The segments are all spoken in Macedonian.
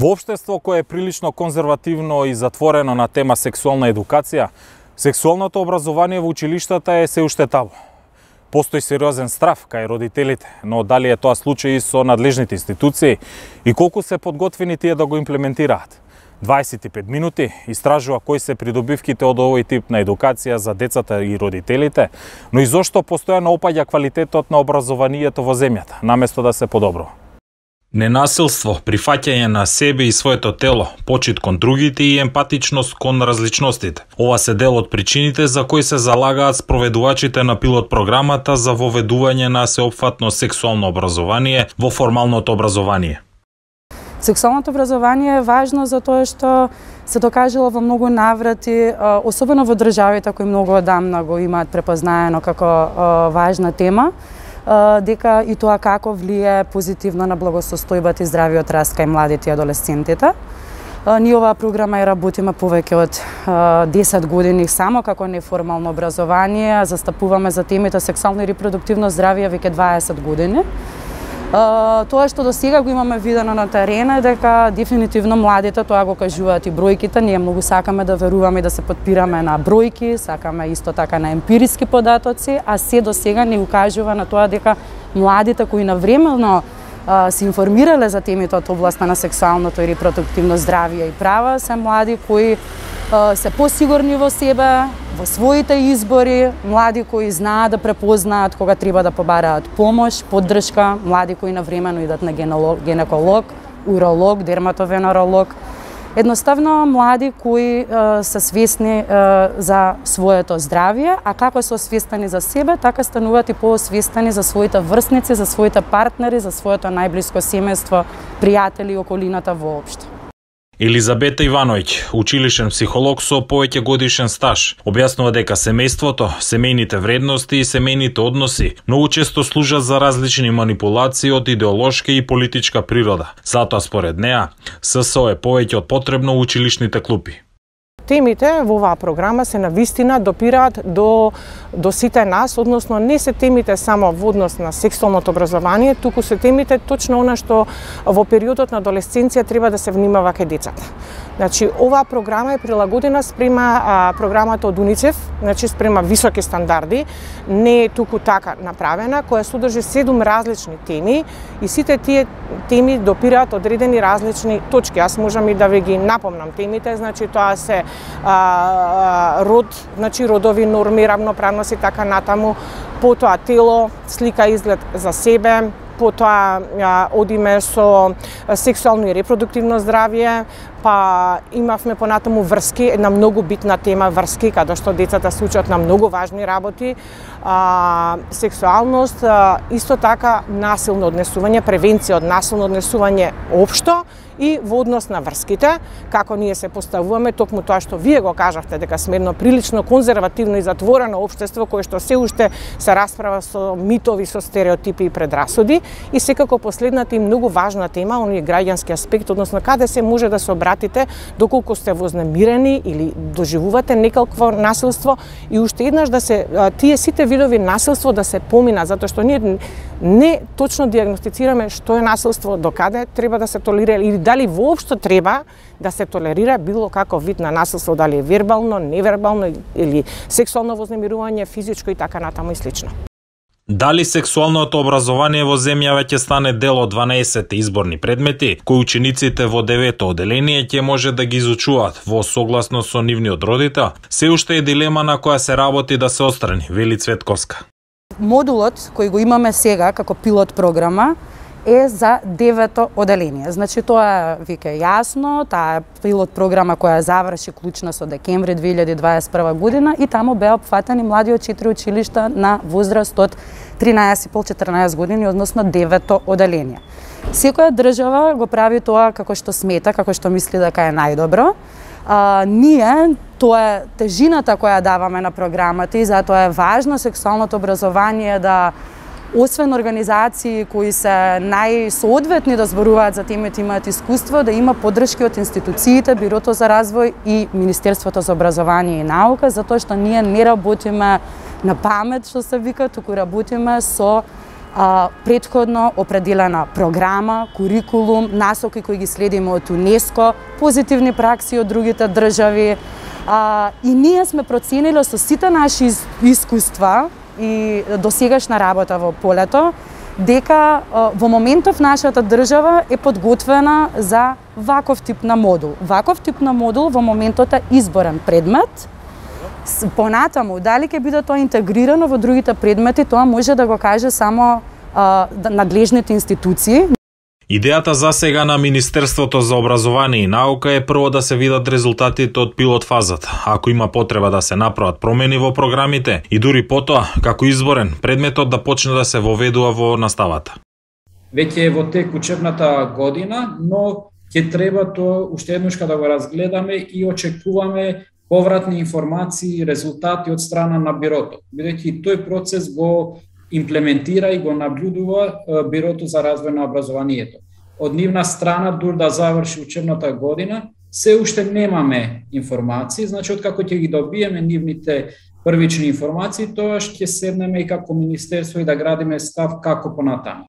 Во општество кое е прилично конзервативно и затворено на тема сексуална едукација, сексуалното образование во училиштата е се уште табу. Постои сериозен страв кај родителите, но дали е тоа случај со надлежните институции и колку се подготвени тие да го имплементираат? 25 минути истражува кои се придобивките од овој тип на едукација за децата и родителите, но и зошто постојано опаѓа квалитетот на образованието во земјата, наместо да се подобрува. Ненасилство, прифаќање на себе и своето тело, почит кон другите и емпатичност кон различностите. Ова се дел од причините за кои се залагаат спроведувачите на пилот програмата за воведување на сеопфатно сексуално образование во формалното образование. Сексуалното образование е важно затоа што се докажало во многу наврати, особено во државите кои многу одамна го имаат препознаено како важна тема, дека и тоа како влие позитивно на благосостојбата и здравиот раст кај младите и адолесцентите. Ние оваа програма ја работиме повеќе од 10 години само како неформално образование, застапуваме за темите сексуално и репродуктивно здравје веќе 20 години. Тоа што до сега го имаме видено на терен е дека дефинитивно младите, тоа го кажуваат и бројките, ние многу сакаме да веруваме и да се подпираме на бројки, сакаме исто така на емпириски податоци, а се до сега ни укажува на тоа дека младите кои навремено се информирале за темите од областа на сексуалното и репродуктивно здравје и права, се млади кои се посигурни во себе, во своите избори, млади кои знаат да препознаат кога треба да побараат помош, поддршка, млади кои навремено идат на гинеколог, уролог, дерматовенеролог. Едноставно млади кои се свесни за своето здравје, а како се освестени за себе, така стануваат и поосвестени за своите врсници, за своите партнери, за своето најблиско семејство, пријатели и околината воопшто. Елизабета Ивановиќ, училишен психолог со повеќе годишен стаж, објаснува дека семејството, семејните вредности и семејните односи многу често служат за различни манипулации од идеолошка и политичка природа. Затоа според неа, ССО е повеќе од потребно училишните клупи. Темите во оваа програма се навистина допираат до сите нас, односно не се темите само во однос на сексуалното образование, туку се темите точно она што во периодот на адолесценција треба да се внимава кај децата. Значи, оваа програма е прилагодена спрема програмата од УНИЦЕФ, значи спрема високи стандарди, не е туку така направена, која содржи 7 различни теми и сите тие теми допираат одредени различни точки. Аз можам и да ви ги напомнам темите, значи тоа се род, значи родови норми, равноправност и така натаму, потоа тело, слика и изглед за себе, потоа одиме со сексуално и репродуктивно здравје, па имавме понатаму врски, една многу битна тема врски, каде што децата се учат на многу важни работи, сексуалност, исто така насилно однесување, превенција од насилно однесување општо и во однос на врските, како ние се поставуваме, токму тоа што вие го кажавте, дека сме едно прилично конзервативно и затворено општество кое што се уште се расправа со митови, со стереотипи и предрасуди, и секако последната и многу важна тема, оној граѓански аспект, односно каде се може да се обратите доколку сте вознемирени или доживувате некакво насилство, и уште еднаш да се тие сите видови насилство да се помина, затоа што ние не точно диагностицираме што е насилство, докаде треба да се толерира или дали воопшто треба да се толерира било каков вид на насилство, дали е вербално, невербално или сексуално вознемирување, физичко и така натаму и слично. Дали сексуалното образование во земјава ќе стане дел од 12 изборни предмети, кои учениците во 9-то оделение ќе може да ги изучуваат во согласно со нивниот родител, се уште е дилема на која се работи да се отстрани, вели Цветковска. Модулот кој го имаме сега како пилот програма е за 9-то оделение. Значи тоа е веќе јасно, таа е пилот програма која заврши клучно со декември 2021 година и таму беа опфатени млади од 4 училишта на возраст од 13,5-14 години, односно 9-то оделение. Секоја држава го прави тоа како што смета, како што мисли дека е најдобро. Ние, тоа е тежината која даваме на програмата и затоа е важно сексуалното образование да, освен организации кои се најсоодветни да зборуваат за темите, имаат искуство, да има поддршки од институциите, Бирото за развој и Министерството за образование и наука, затоа што ние не работиме на памет, што се вика, туку работиме со претходно определена програма, курикулум, насоки кои ги следиме од УНЕСКО, позитивни пракси од другите држави. И ние сме проценили со сите наши искуства и досегашна работа во полето, дека во моментов нашата држава е подготвена за ваков тип на модул. Ваков тип на модул во моментот е изборен предмет. Понатаму, дали ќе биде тоа интегрирано во другите предмети, тоа може да го каже само надлежните институции. Идејата за сега на Министерството за образование и наука е прво да се видат резултатите од пилот фазата, ако има потреба да се направат промени во програмите и дури потоа, како изборен, предметот да почне да се воведува во наставата. Веќе е во тек учебната година, но ќе треба тоа уште еднушка да го разгледаме и очекуваме повратни информации и резултати од страна на бирото, бидејќи тој процес го имплементира и го наблюдува Бирото за развој на образованието. Од нивна страна, дур да заврши учебната година, се уште немаме информации, значи откако ќе ги добиеме нивните првични информации, тоа ќе седнеме и како министерство и да градиме став како понатаму.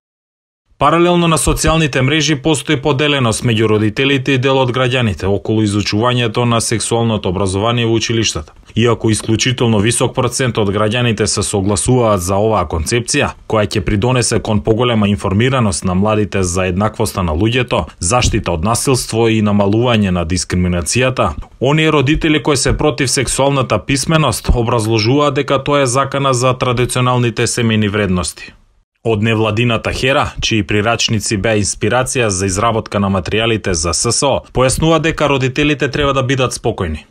Паралелно на социјалните мрежи постои поделеност меѓу родителите и дел од граѓаните околу изучувањето на сексуалното образование во училиштата. Иако исклучително висок процент од граѓаните се согласуваат за оваа концепција, која ќе придонесе кон поголема информираност на младите за еднаквоста на луѓето, заштита од насилство и намалување на дискриминацијата, оние родители кои се против сексуалната писменост образложуваат дека тоа е закана за традиционалните семејни вредности. Од невладината Хера, чии прирачници беа инспирација за изработка на материјалите за ССО, појаснува дека родителите треба да бидат спокојни.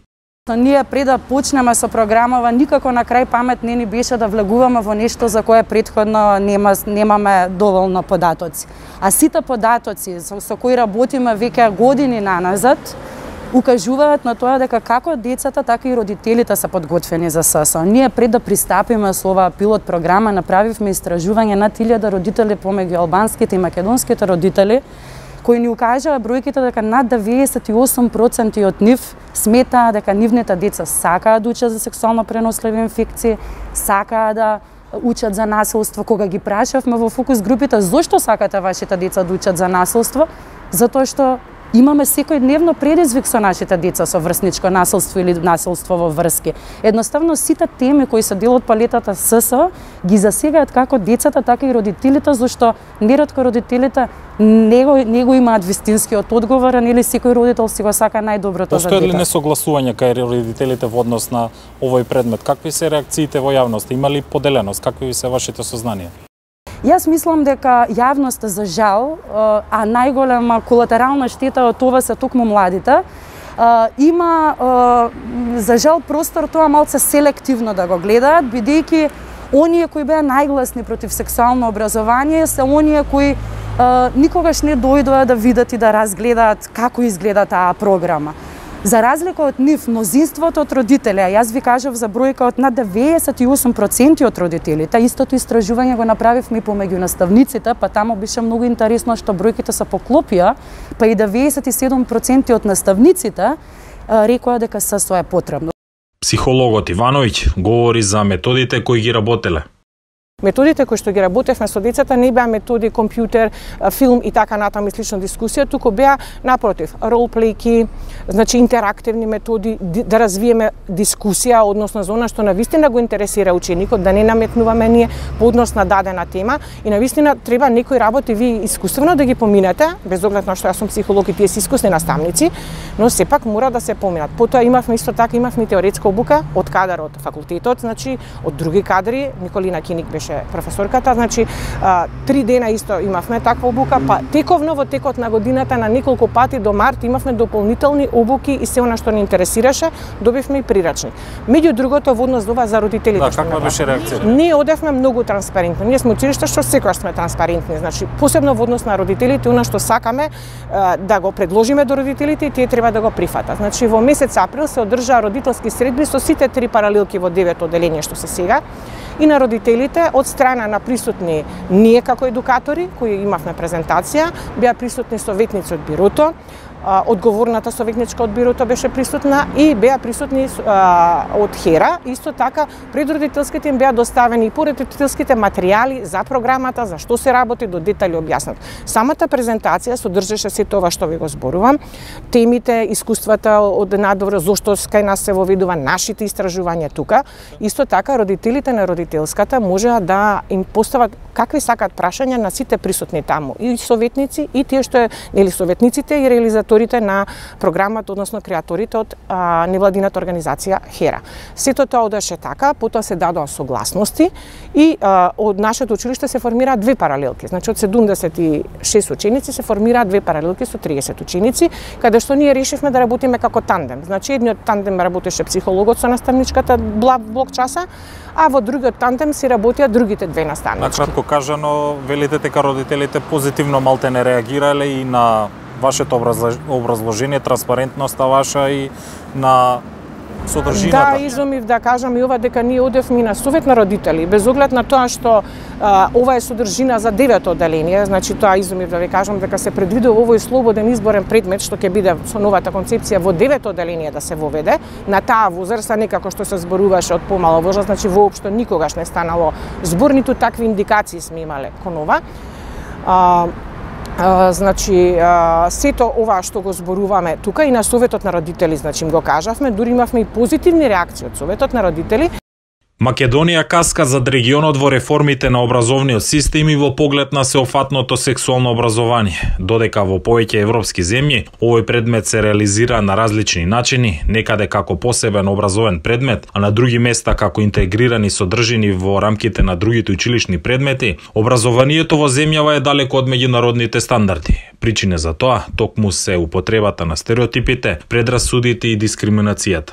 Ние пред да почнеме со програмава, никако на крај памет не ни беше да влегуваме во нешто за кое претходно немаме доволно податоци. А сите податоци со кои работиме веќе години наназад, укажуваат на тоа дека како децата, така и родителите се подготвени за ССО. Ние пред да пристапиме со оваа пилот програма, направивме истражување над 1000 родители помеѓу албанските и македонските родители, кои ни укажаа бројките дека над 98% од нив сметаа дека нивните деца сакаат да учат за сексуално преносливи инфекции, сакаат да учат за насилство. Кога ги прашавме во фокус групите зошто сакате вашите деца да учат за насилство, затоа што имаме секојдневно предизвик со нашите деца со врсничко насилство или насилство во врски. Едноставно сите теми кои се дел од палетата ССО ги засегаат како децата, така и родителите, зашто неретко родителите не го имаат вистинскиот одговор, или секој родител си го сака најдоброто за детето. детето. Постои ли несогласување кај родителите во однос на овој предмет? Какви се реакциите во јавност? Има ли поделеност? Какви се вашите сознанија? Јас мислам дека јавноста за жал, а најголема колатерална штета од ова се токму младите, има за жал простор тоа малце селективно да го гледаат, бидејќи оние кои беа најгласни против сексуално образование се оние кои никогаш не дојдоа да видат и да разгледаат како изгледа таа програма. За разлика од нив, мнозинството од родители, јас ви кажав за бројка од над 98% од родителите, истото истражување го направивме и помеѓу наставниците, па таму беше многу интересно што бројките се поклопија, па и 97% од наставниците рекоа дека ССО е потребно. Психологот Ивановиќ говори за методите кои ги работеле. Методите кои што ги работевме со децата не беа методи компјутер, филм и така натаму и слична дискусија, туку беа напротив, ролплејки, значи интерактивни методи, да развиеме дискусија односно за она што навистина го интересира ученикот, да не наметнуваме ние по однос на дадена тема и навистина треба некои работи ви искусствено да ги поминете, без оглед на што јас сум психолог и тие се искусни наставници, но сепак мора да се поминат. Потоа имавме исто така имавме теоретска обука од кадар од факултетот, значи од други кадри, Николина Киник беше професорката, значи 3 дена исто имавме таква обука, па тековно во текот на годината на неколку пати до март имавме дополнителни обуки и се она што ни интересираше, добивме и прирачник. Меѓу другото во однос до ова за родителите. Да, каква беше реакцијата? Ние одевме многу транспарентно. Ние сме училиште што секогаш сме транспарентни, значи посебно во однос на родителите, она што сакаме да го предложиме до родителите и тие треба да го прифатат. Значи во месец април се одржаа родителски средби со сите 3 паралелки во 9 оделение што се сега и на родителите од страна на присутни ние како едукатори кои имавме презентација, беа присутни советници од бирото, одговорната советничка од бирото беше присутна и беа присутни од ХЕРА. Исто така пред родителските им беа доставени и породителските материјали за програмата, за што се работи, до детали објаснат. Самата презентација содржеше се тоа што ви го зборувам, темите, искуствата од надвор, зошто кај нас се воведува, нашите истражувања тука. Исто така родителите на родителската можеа да им постават какви сакат прашања на сите присутни таму, и советници, и тие што нели советниците и реализаторите на програмата, односно креаторите од невладината организација ХЕРА. Сето тоа одеше така, потоа се дадоа согласности и од нашето училиште се формираат две паралелки. Значи од 76 ученици се формираат две паралелки со 30 ученици, каде што ние решивме да работиме како тандем. Значи едниот тандем работеше психологот со наставничката блок часа, а во другиот тандем си работеа другите две наставнички. Накратко кажано, велите дека родителите позитивно малте не реагирале и на вашето образложение, транспарентноста ваша и на содржината. Да, изумив да кажам и ова дека ние одевме на совет на родители, без оглед на тоа што ова е содржина за 9-то одделение, значи тоа изумив да ви кажам дека се предвидува овој слободен изборен предмет што ќе биде со новата концепција во 9-то одделение да се воведе на таа возраст, а не како што се зборуваше од помала возраст, значи воопшто никогаш не станало збор, ниту такви индикации сме имале кон ова. Значи, сето ова што го зборуваме тука и на Советот на родители, значи им го кажавме, дури имавме и позитивни реакции од Советот на родители. Македонија каска зад регионот во реформите на образовниот систем и во поглед на сеопфатното сексуално образование. Додека во повеќе европски земји овој предмет се реализира на различни начини, некаде како посебен образовен предмет, а на други места како интегрирани содржини во рамките на другите училишни предмети, образованието во земјава е далеко од меѓународните стандарди. Причине за тоа токму се употребата на стереотипите, предрасудите и дискриминацијата.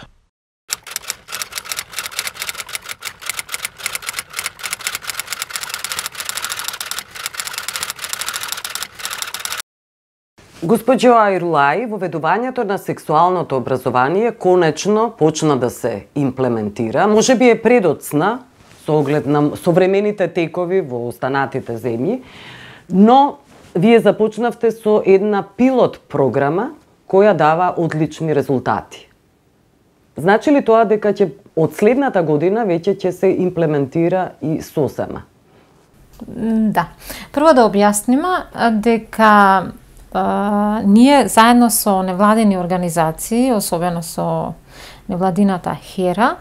Госпоđo Айрулаи, воведувањето на сексуалното образование конечно почна да се имплементира. Може би е предоцна со оглед на современите текови во останатите земји, но вие започнавте со една пилот програма која дава одлични резултати. Значи ли тоа дека ќе од следната година веќе ќе се имплементира и сосема? Да. Прво да објасниме дека ние заедно со невладини организации, особено со невладината ХЕРА,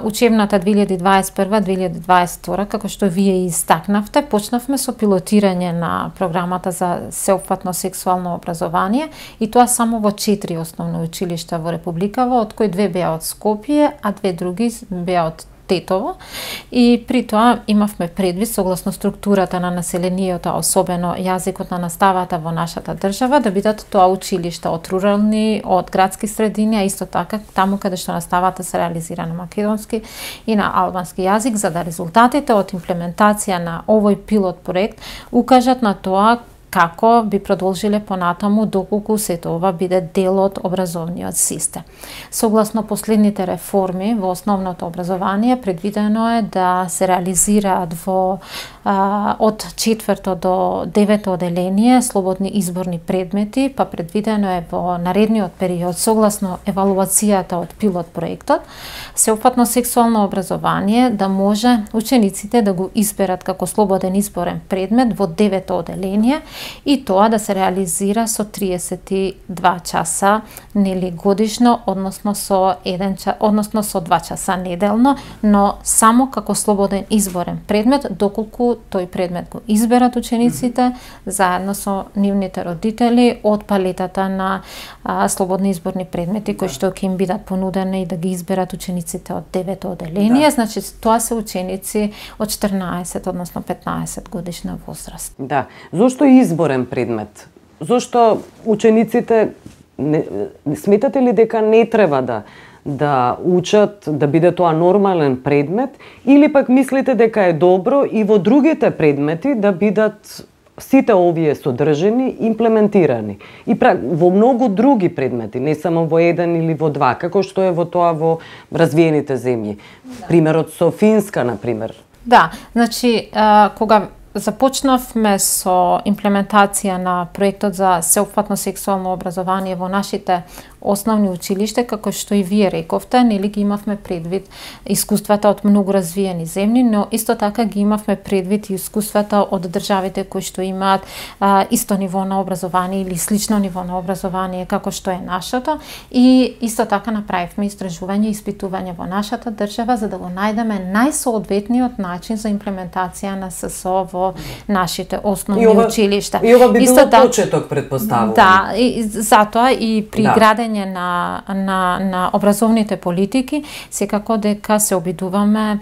учебната 2021-2022, како што вие истакнавте, почнавме со пилотирање на програмата за сеопфатно сексуално образование и тоа само во 4 основни училишта во Републикава, од кои 2 беа од Скопје, а 2 други беа од Тетово, и при тоа имавме предвид согласно структурата на населението, особено јазикот на наставата во нашата држава, да бидат тоа училишта од рурални, од градски средини, а исто така таму каде што наставата се реализира на македонски и на албански јазик, за да резултатите од имплементација на овој пилот проект укажат на тоа како би продолжиле понатаму доколку сето ова биде дел од образовниот систем. Согласно последните реформи во основното образование, предвидено е да се реализираат од 4-то до 9-то одделение слободни изборни предмети, па предвидено е во наредниот период, согласно евалуацијата од пилот проектот, сеопфатно сексуално образование да може учениците да го изберат како слободен изборен предмет во 9-то одделение, и тоа да се реализира со 32 часа нели годишно, односно со 2 часа неделно, но само како слободен изборен предмет, доколку тој предмет го изберат учениците заедно со нивните родители од палетата на слободни изборни предмети кои што ќе им бидат понудени и да ги изберат учениците од 9-то одделение. Да. Значи тоа се ученици од 14, односно 15 годишна возраст. Да. Зошто изборен предмет? Зошто учениците сметате ли дека не треба да учат, да биде тоа нормален предмет, или пак мислите дека е добро и во другите предмети да бидат сите овие содржини имплементирани и во многу други предмети, не само во еден или во два, како што е во тоа во развиените земји. Да. Примерот со Финска, например. Да, значи, кога Започнавме со имплементација на проектот за сеопфатно сексуално образование во нашите основни училишта, како што и вие рековте, нели ги имавме предвид искуствата од многу развиени земји, но исто така ги имавме предвид и искуствата од државите кои што имаат исто ниво на образование или слично ниво на образование како што е нашето, и исто така направивме истражување и испитување во нашата држава за да го најдеме најсоодветниот начин за имплементација на ССО во нашите основни училишта. И ова би било почеток, предпоставувам. Да, и затоа и при градење на образовните политики, секако дека се обидуваме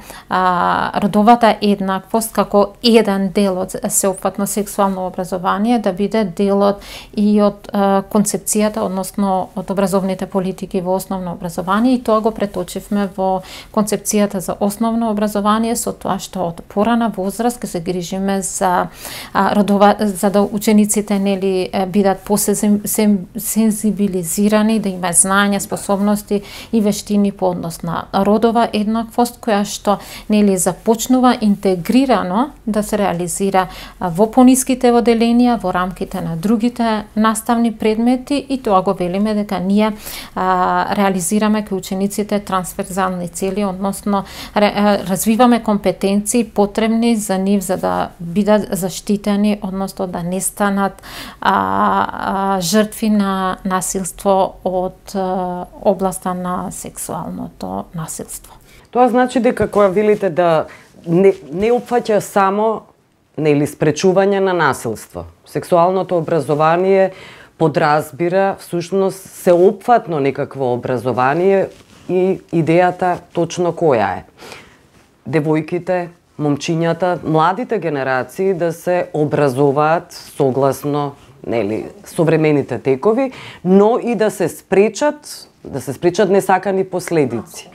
родовата еднаквост како еден дел од сеопфатно сексуално образование да биде делот и од концепцијата, односно од образовните политики во основно образование, и тоа го преточивме во концепцијата за основно образование со тоа што од порана возраст ќе се грижиме за за да учениците нели бидат посензибилизирани, да имаат знаења, способности и вештини по однос на родова еднаквост, која што нели започнува интегрирано да се реализира во пониските оделенија, во рамките на другите наставни предмети, и тоа го велиме дека ние реализираме кај учениците трансверзални цели, односно развиваме компетенции потребни за нив за да бидат заштитени, односно да не станат жртви на насилство од областа на сексуалното насилство. Тоа значи дека кога велите да не опфаќа само нели спречување на насилство. Сексуалното образование подразбира всушност сеопфатно некакво образование, и идејата точно која е. Девојките, момчињата, младите генерации да се образуваат согласно нели современите текови, но и да се спречат несакани последици.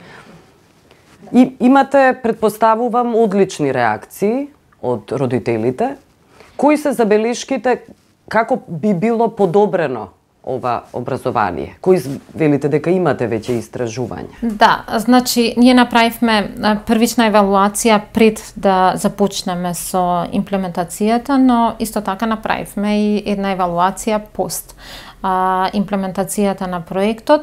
И имате, предпоставувам, одлични реакции од родителите. Кои се забелешките како би било подобрено ова образование? Кои велите дека имате веќе истражувања? Да, значи ние направивме првична евалуација пред да започнеме со имплементацијата, но исто така направивме и една евалуација пост имплементацијата на проектот.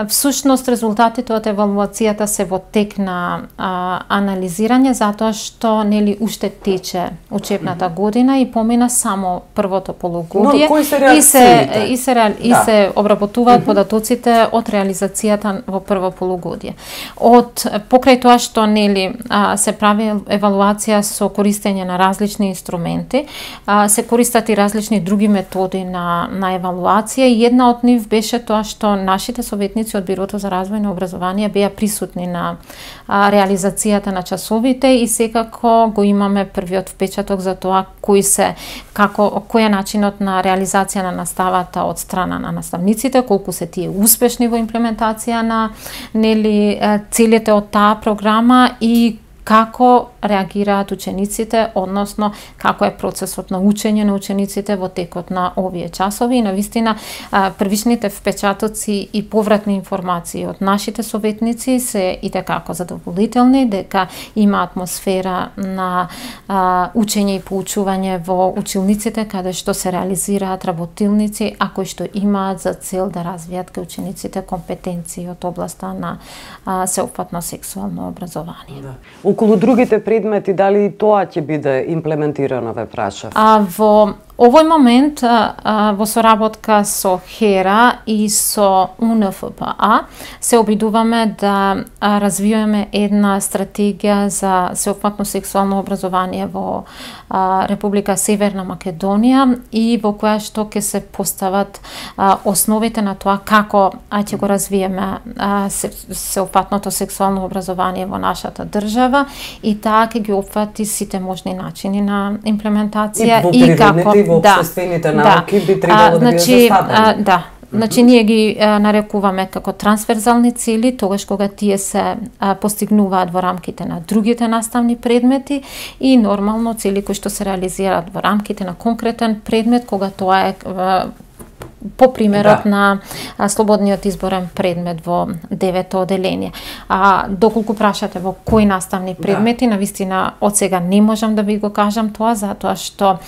Всушност резултатите од евалуацијата се во тек на анализирање, затоа што нели уште тече учебната година и помина само првото полугодие. Но кои се реакциите? И се обработуваат податоците од реализацијата во прво полугодие. Покрај тоа што нели се прави евалуација со користење на различни инструменти, се користат и различни други методи на евалуација, и една од нив беше тоа што нашите советници од Бирото за развој на образование беа присутни на реализацијата на часовите, и секако го имаме првиот впечаток за тоа кој е начинот на реализација на наставата од страна на наставниците, колку се тие успешни во имплементација на нели целите од таа програма и како реагираат учениците, односно како е процесот на учење на учениците во текот на овие часови. И навистина првичните впечатоци и повратни информации од нашите советници се и како задоволителни, дека има атмосфера на учење и поучување во училниците, каде што се реализираат работилници, а кои што имаат за цел да развијат кај учениците компетенции од областа на сеопфатно сексуално образование. Да. Околу другите предмети, дали и тоа ќе биде имплементирано, ве прашав? Во овој момент, во соработка со ХЕРА и со УНФПА, се обидуваме да развиваме една стратегија за сеопфатно сексуално образование во Република Северна Македонија, и во која што ќе се постават основите на тоа како ќе го развиеме сеопфатното сексуално образование во нашата држава, и таа ќе ги опфати сите можни начини на имплементација и како во општествените науки би требало да биде заставени. Значи, ние ги нарекуваме како трансверзални цели, тогаш кога тие се постигнуваат во рамките на другите наставни предмети, и нормално цели кои што се реализираат во рамките на конкретен предмет, кога тоа е по примерот на слободниот изборен предмет во 9-то оделение. Доколку прашате во кои наставни предмети, навистина од сега не можам да ви го кажам тоа, затоа што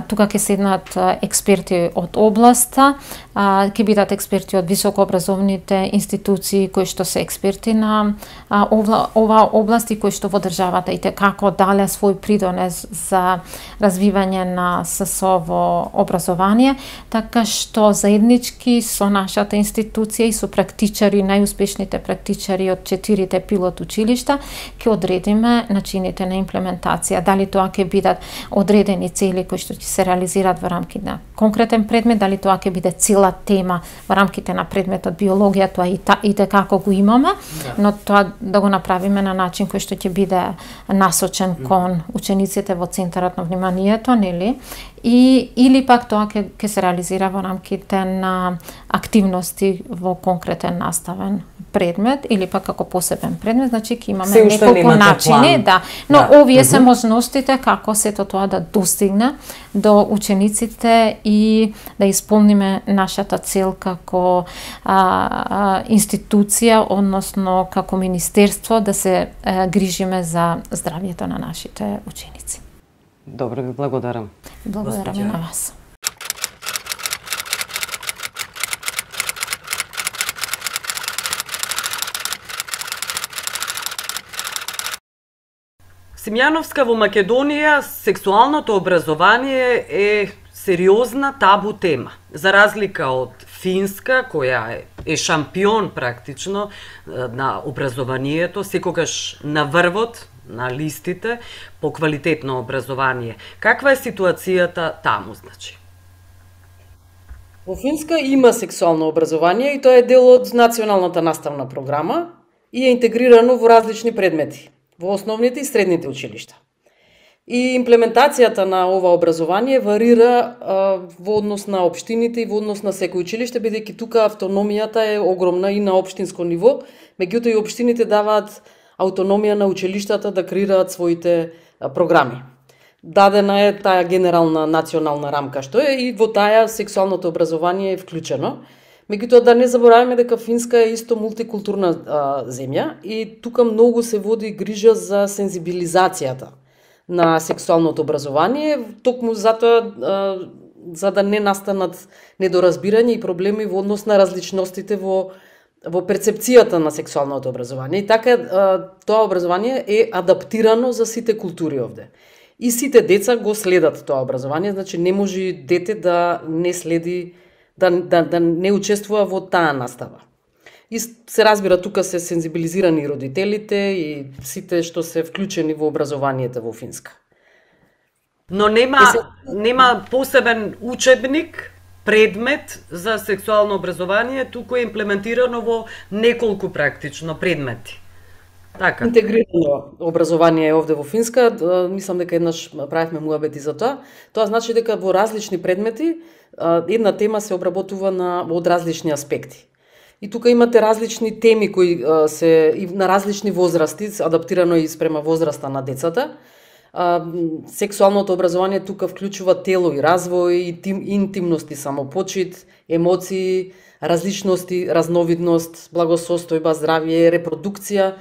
тука ќе седнат експерти од областа, ќе бидат експерти од високообразовните институции кои што се експерти на ова област и кои што во државата и како дале свој придонес за развивање на ССО во образование, така што заеднички со нашата институција и со практичари, најуспешните практичари од 4 пилот училишта, ќе одредиме начините на имплементација. Дали тоа ќе бидат одредени цели кои што ќе се реализираат во рамките на конкретен предмет, дали тоа ќе биде цела тема во рамките на предметот биологија, тоа и како го имаме, но тоа да го направиме на начин кој што ќе биде насочен кон учениците во центарот на вниманието, нели? Или пак тоа ќе се реализира во рамките на активности во конкретен наставен предмет или пак како посебен предмет, значи ќе имаме неколку начини, но овие се можностите како сето тоа да достигне до учениците и да исполниме нашата цел како институција, односно како министерство, да се грижиме за здравјето на нашите ученици. Добро, ви благодарам. Благодарам и на вас. Симјановска, во Македонија сексуалното образование е сериозна табу тема. За разлика од Финска, која е шампион практично на образованието, секогаш на врвот на листите по квалитетно образование. Каква е ситуацијата таму, значи? Во Финска има сексуално образование и тоа е дел од националната наставна програма и е интегрирано во различни предмети во основните и средните училишта. И имплементацијата на ова образование варира во однос на општините и во однос на секој училиште, бидејќи тука автономијата е огромна и на општинско ниво, меѓутоа и општините даваат автономија на училиштата да креираат своите програми. Дадена е таа генерална национална рамка што е и во таа сексуалното образование е вклучено. Меѓутоа да не забораваме дека Финска е исто мултикултурна земја и тука многу се води грижа за сензибилизацијата на сексуалното образование, токму затоа за да не настанат недоразбирање и проблеми во однос на различностите во перцепцијата на сексуалното образование. И така тоа образование е адаптирано за сите култури овде. И сите деца го следат тоа образование, значи не може дете да не следи, да не учествува во таа настава. И се разбира, тука се сензибилизирани родителите и сите што се вклучени во образованието во Финска. Но нема посебен учебник, предмет за сексуално образование, туку е имплементирано во неколку практично предмети. Така. Интегрирано образование овде во Финска, мислам дека еднаш правевме муабети за тоа. Тоа значи дека во различни предмети една тема се обработува од различни аспекти. И тука имате различни теми кои се и на различни возрасти, адаптирано и спрема возраста на децата. Сексуалното образование тука вклучува тело и развој, интимност и самопочит, емоции, различности, разновидност, благосостојба, здравје, репродукција,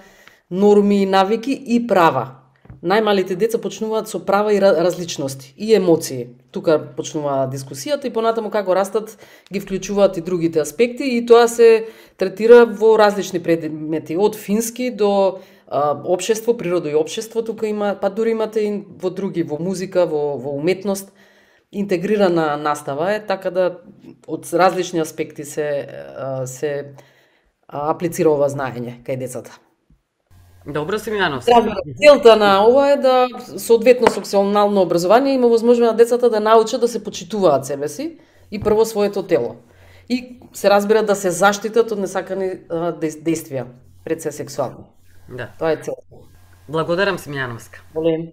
норми и навики и права. Најмалите деца почнуваат со права и различности и емоции. Тука почнува дискусијата и понатаму како растат ги вклучуваат и другите аспекти и тоа се третира во различни предмети, од фински до општество, природа и општество, тука има, па дури имате и во други, во музика, во уметност, интегрирана настава е, така да од различни аспекти се аплицира ова знаење кај децата. Добро, Симјановска. Целта на ова е да соодветно сексуално образование има возможност на децата да научат да се почитуваат себе си и прво своето тело. И се разбира да се заштитат од несакани действија пред се сексуални. Да. Тоа е целта. Благодарам, Симјановска. Волем.